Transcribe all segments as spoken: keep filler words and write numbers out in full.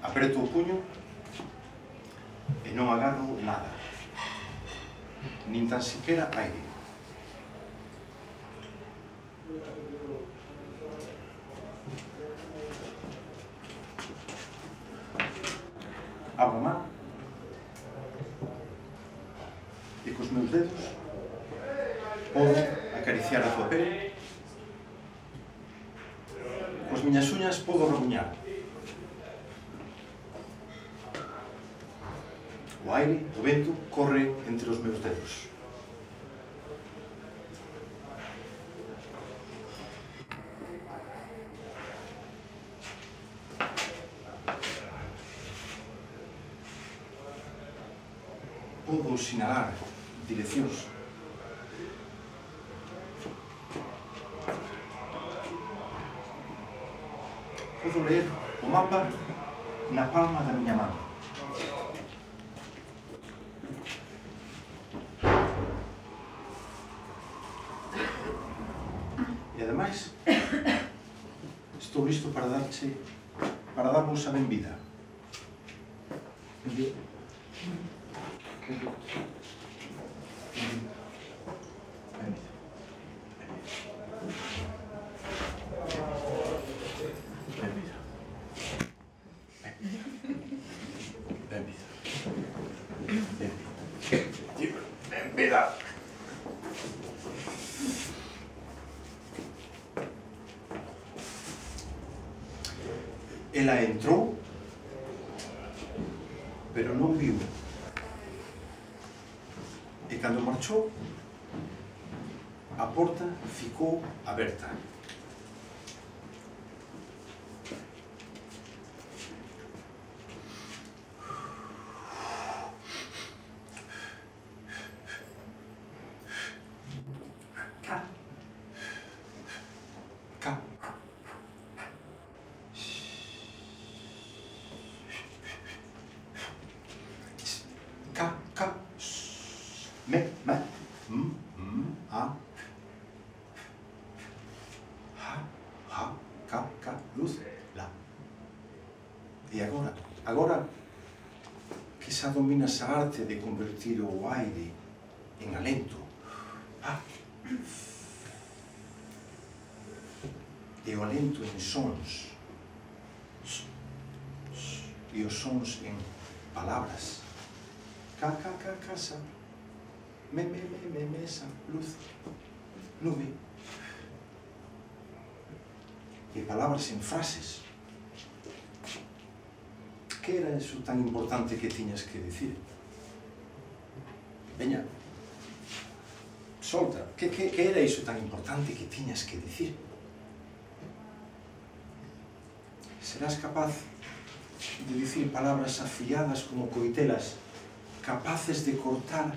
Apreto o puño e non agarro nada, nin tan siquiera aire. Abro a man e cos meus dedos podo acariciar a tua pele, cos miñas uñas podo rabuñar. O aire, o vento, corre entre os meus dedos. Podo sinalar direccións. Podo ler o mapa na palma da miña man. E ademais, estou listo para darche, para darvos a benvida. Benvida. Benvida. Benvida. Benvida. Benvida. Benvida. Benvida. Ela entrou, pero non viu. E cando marchou, a porta ficou aberta. Ca. Ca. Ca, ca, me, me, m, m, a, ha, ha, ca, ca, luz, la. E agora, agora que xa dominas a arte de convertir o aire en alento, ah, e o alento en sons, e os sons en palabras. Ca, ca, ca, casa, me, me, me, me, mesa, luz, nube. E palabras en frases. Que era eso tan importante que tiñas que dicir? Veña, solta, que, que, que era iso tan importante que tiñas que dicir? Serás capaz de dicir palabras afiadas como coitelas, capaces de cortar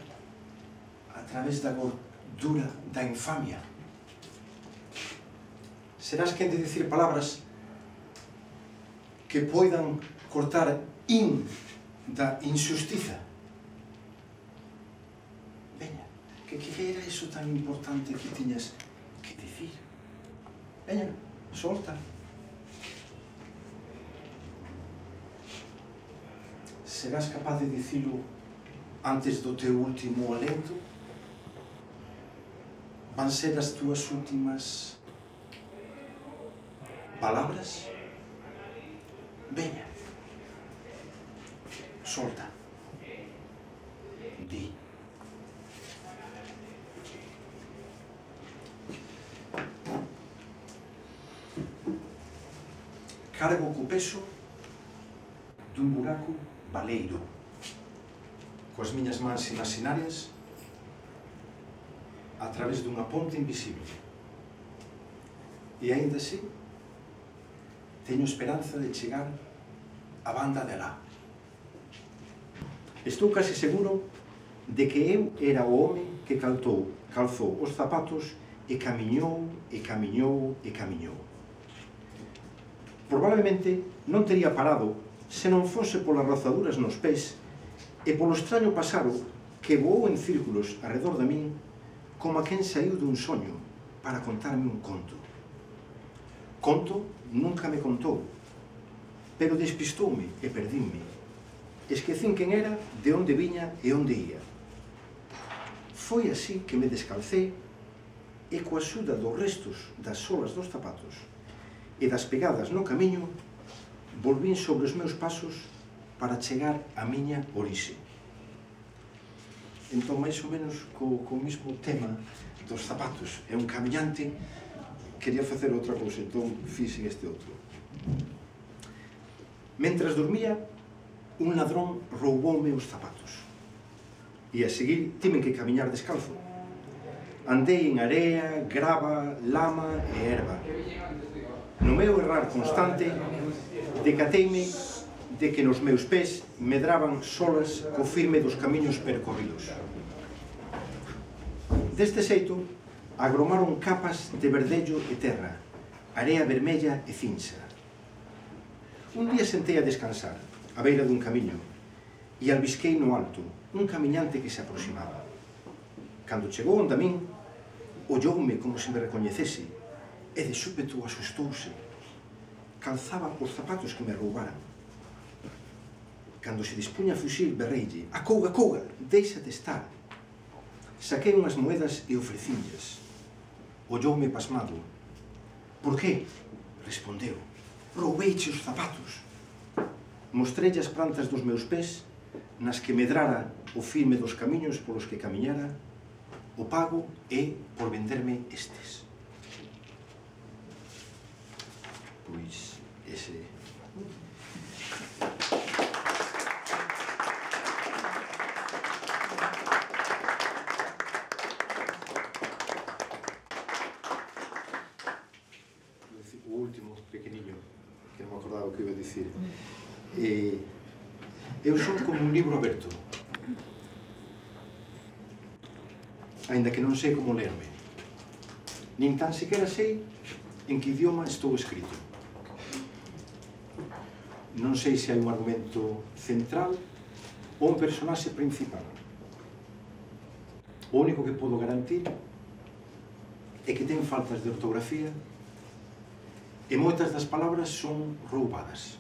a través da gordura da infamia. Serás quen de dicir palabras que poidan cortar in da injustiza. Veña, que, que era iso tan importante que tiñas que dicir? Veña, solta. Serás capaz de dicilo antes do teu último alento? Van ser as túas últimas palabras? Veña, solta, di. Cargo co peso dun buraco baleiro, coas miñas mans imaginarias a través dunha ponte invisible. E aínda así, teño esperanza de chegar á banda de alá. Estou case seguro de que eu era o home que calzou, calzou os zapatos e camiñou, e camiñou, e camiñou. Probablemente non tería parado se non fose polas rozaduras nos pés e polo extraño pasaro que voou en círculos arredor de min como a quen saiu dun soño para contarme un conto. Conto nunca me contou, pero despistoume e perdínme. Esquecín quen era, de onde viña e onde ía. Foi así que me descalcei e coa axuda dos restos das solas dos zapatos e das pegadas no camiño, volvín sobre os meus pasos para chegar á miña orixe. Entón, máis ou menos, co, co mismo tema dos zapatos e un camiñante, quería facer outra cousa, entón fixen este outro. Mentras dormía, un ladrón rouboume os zapatos. E a seguir tiven que camiñar descalzo. Andei en area, grava, lama e erva. No meu errar constante, decateime de que nos meus pés medraban solas co firme dos camiños percorridos. Deste xeito, agromaron capas de verdello e terra, area vermella e cincha. Un día sentei a descansar, á beira dun camiño, e albisquei no alto un camiñante que se aproximaba. Cando chegou onde a min, olloume como se me recoñecese, e de súpeto asustouse. Calzaba os zapatos que me roubaran. Cando se dispuña a fuxir, berreille: "Acouga, acouga, deixate estar." Saquei unhas moedas e ofrecinlles. Olloume pasmado. "Por que?" respondeu. "Roubeiche os zapatos." Mostrelle as plantas dos meus pés, nas que medrara o firme dos camiños polos que camiñara. O pago é por venderme estes. Pois, ese... O último pequeniño, que non me acordaba o que iba a dicir. Eh, eu son como un libro aberto, aínda que non sei como lerme. Nin tan sequera sei en que idioma estou escrito. Non sei se hai un argumento central ou un personaxe principal. O único que podo garantir é que ten faltas de ortografía e moitas das palabras son roubadas.